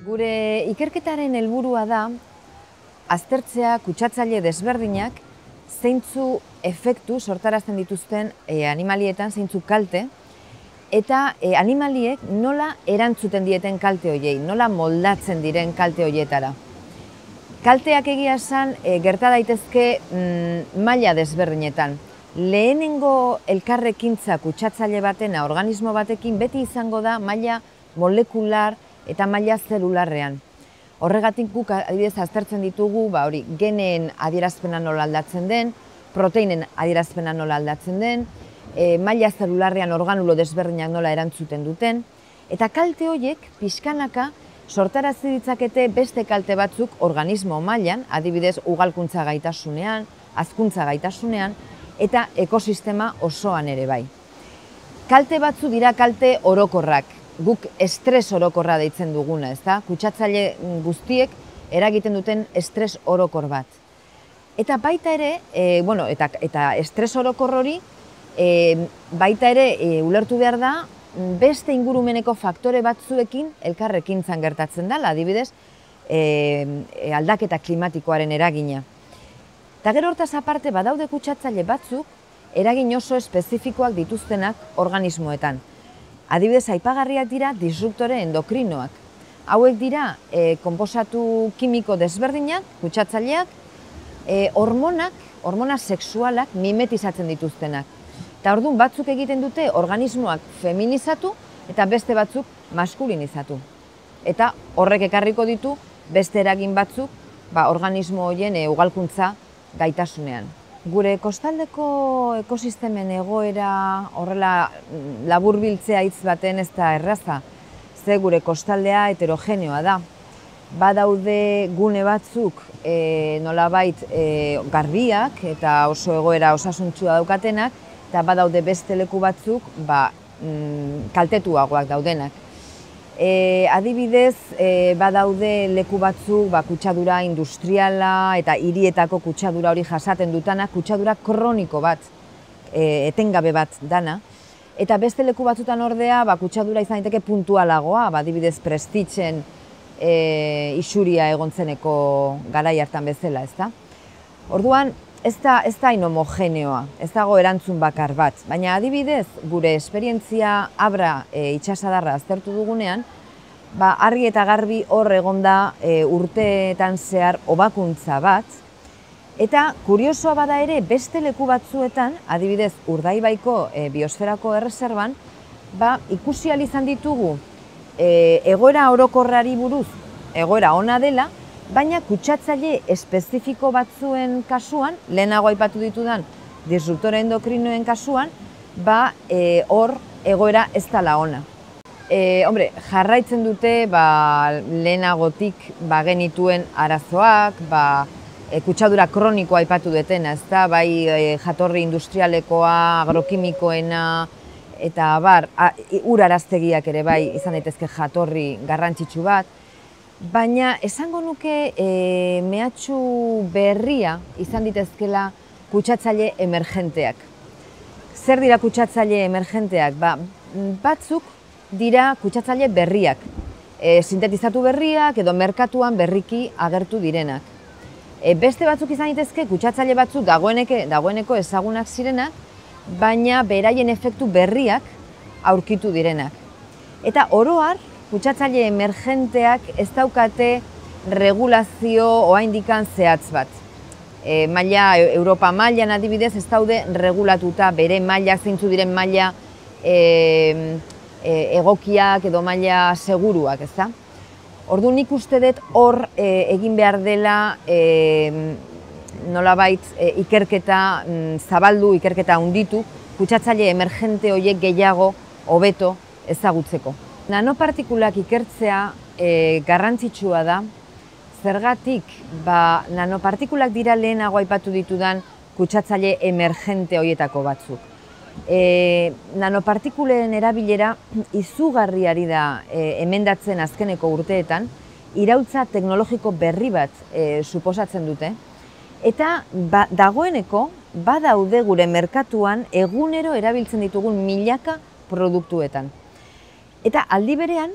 Gure ikerketaren helburua da aztertzea kutsatzaile desberdinak zeintzu efektu sortarazten dituzten animalietan, zeintzu kalte, eta animaliek nola erantzuten dieten kalte horiei, nola moldatzen diren kalte horietara. Kalteak egia esan gerta daitezke maila desberdinetan. Lehenengo elkarrekintza kutsatzaile batena organismo batekin beti izango da maila molekular eta maila zelularrean. Horregatik guk adibidez aztertzen ditugu geneen adierazpena nola aldatzen den, proteinen adierazpena nola aldatzen den, maila zelularrean organulo desberdinak nola erantzuten duten, eta kalte horiek pixkanaka sortarazi ditzakete beste kalte batzuk organismo mailan, adibidez ugalkuntza gaitasunean, hazkuntza gaitasunean, eta ekosistema osoan ere bai. Kalte batzu dira kalte orokorrak, guk estres orokorra deitzen duguna, ezta? Kutsatzaile guztiek eragiten duten estres orokor bat. Eta baita ere, eta estres orokor hori, baita ere ulertu behar da, beste ingurumeneko faktore batzuekin elkarrekintzan gertatzen dela, adibidez, aldaketa klimatikoaren eragina. Eta gero hortaz aparte badaude kutsatzaile batzuk eragin oso espezifikoak dituztenak organismoetan. Adibidez, aipagarriak dira disruptore endokrinoak. Hauek dira konposatu kimiko desberdinak, kutsatzaileak, hormona sexualak mimetizatzen dituztenak. Eta orduan batzuk egiten dute organismoak feminizatu eta beste batzuk maskulinizatu. Eta horrek ekarriko ditu beste eragin batzuk organismo horien ugalkuntza gaitasunean. Gure kostaldeko ekosistemen egoera horrela laburbiltzea hitz baten ez da erraza, ze gure kostaldea heterogeneoa da. Badaude gune batzuk nolabait garbiak eta oso egoera osasuntsua daukatenak, eta badaude beste leku batzuk kaltetuagoak daudenak. Adibidez, badaude leku batzuk kutsadura industriala eta hirietako kutsadura hori jasaten dutana, kutsadura kroniko bat, etengabe bat dana. Eta beste leku batzutan ordea, kutsadura izan daiteke puntualagoa, adibidez prestitzen isuria egontzeneko garai hartan bezala, ezta? Orduan, ez da homogeneoa, ez dago erantzun bakar bat, baina adibidez gure esperientzia Abra itsasadarra aztertu dugunean, argi eta garbi hor egonda urteetan zehar hobakuntza bat, eta kuriosoa bada ere beste leku batzuetan, adibidez Urdaibaiko biosferako erreserban, ikusi ahal izan ditugu egoera orokorrari buruz egoera ona dela, baina kutsatzaile espezifiko batzuen kasuan, lehenago aipatu ditudan disruptore endokrinoen kasuan, hor egoera ez dela ona. Jarraitzen dute lehenagotik genituen arazoak, kutsadura kronikoa aipatu dutena, ezta, bai jatorri industrialekoa, agrokimikoena, eta uraraztegiak ere bai izan daitezke jatorri garrantzitsu bat, baina esango nuke mehatxu berria izan ditezkela kutsatzaile emergenteak. Zer dira kutsatzaile emergenteak? Batzuk dira kutsatzaile berriak, sintetizatu berriak edo merkatuan berriki agertu direnak. Beste batzuk izan ditezke kutsatzaile batzuk dagoeneko ezagunak zirenak, baina beraien efektu berriak aurkitu direnak. Eta oro har, kutsatzaile emergenteak ez daukate regulazio oraindikan zehatz bat. Europa mailan adibidez ez daude regulatuta bere mailak, zeintzu diren maila egokiak edo maila seguruak, ezta? Orduan nik uste dut hor egin behar dela nolabait ikerketa zabaldu, ikerketa handitu, kutsatzaile emergente horiek gehiago hobeto ezagutzeko. Nanopartikulak ikertzea garrantzitsua da, zergatik nanopartikulak dira lehenago aipatu ditudan kutsatzaile emergente horietako batzuk. Nanopartikulen erabilera izugarri ari da emendatzen azkeneko urteetan, iraultza teknologiko berri bat suposatzen dute, eta dagoeneko badaude gure merkatuan egunero erabiltzen ditugun milaka produktuetan. Eta aldi berean,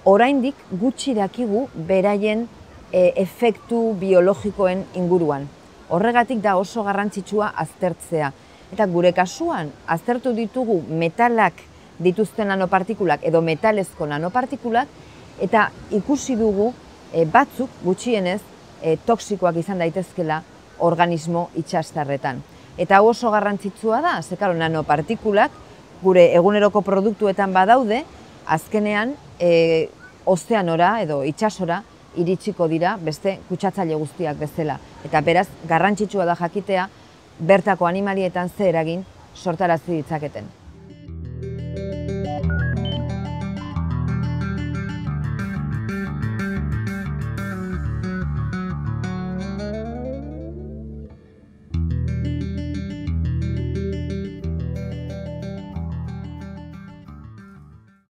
oraindik gutxi dakigu beraien efektu biologikoen inguruan. Horregatik da oso garrantzitsua aztertzea. Eta gure kasuan, aztertu ditugu metalak dituzten nanopartikulak edo metalezko nanopartikulak, eta ikusi dugu batzuk gutxienez toksikoak izan daitezkela organismo itsastarretan. Eta oso garrantzitsua da, ze klaro, nanopartikulak gure eguneroko produktuetan badaude, azkenean ozeanora edo itsasora iritsiko dira beste kutsatzaile guztiak bezala. Eta beraz, garrantzitsua da jakitea bertako animalietan ze eragin sortarazi ditzaketen.